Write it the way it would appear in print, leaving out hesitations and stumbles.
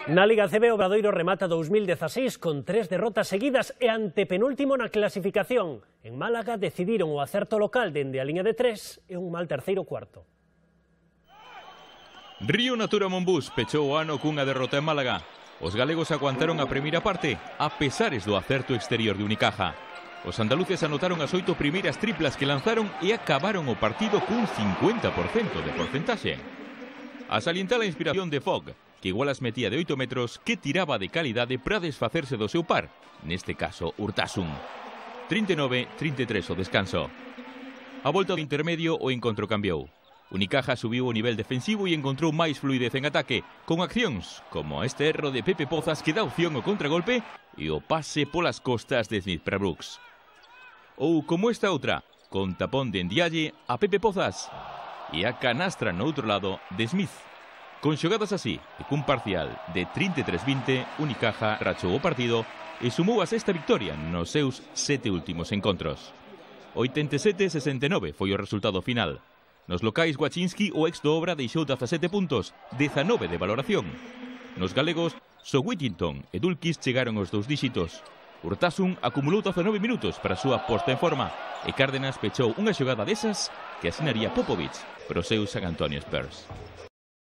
Na Liga CB, o Obradoiro remata 2016 con 3 derrotas seguidas e antepenúltimo na clasificación. En Málaga decidiron o acerto local dende a liña de 3 e un mal terceiro cuarto. Río Natura Monbús pechou o ano cunha derrota en Málaga. Os galegos aguantaron a primeira parte, a pesares do acerto exterior de Unicaja. Os andaluces anotaron as 8 primeiras triplas que lanzaron e acabaron o partido cun 50% de porcentaxe. A salientar a inspiración de Fogg, que igual as metía de 8 metros, que tiraba de calidade para desfacerse do seu par, neste caso Urtasun. 39-33 o descanso. A volta do intermedio o encontro cambiou. Unicaja subiu o nivel defensivo e encontrou máis fluidez en ataque, con accións como este erro de Pepe Pozas que dá opción ao contragolpe e o pase polas costas de Smith para Brooks. Ou como esta outra, con tapón de Ndiaye a Pepe Pozas e a canastra no outro lado de Smith. Con xogadas así e cun parcial de 33-20, Unicaja rachou o partido e sumou a sexta victoria nos seus 7 últimos encontros. 87-69 foi o resultado final. Nos locais, Wachinski, o ex do Obra, deixou 17 puntos, 19 de valoración. Nos galegos, só Whittington e Dulkis chegaron aos 2 díxitos. Urtasun acumulou 19 minutos para a súa posta en forma e Cárdenas pechou unha xogada desas que asinaría Popovic para os seus San Antonio Spurs.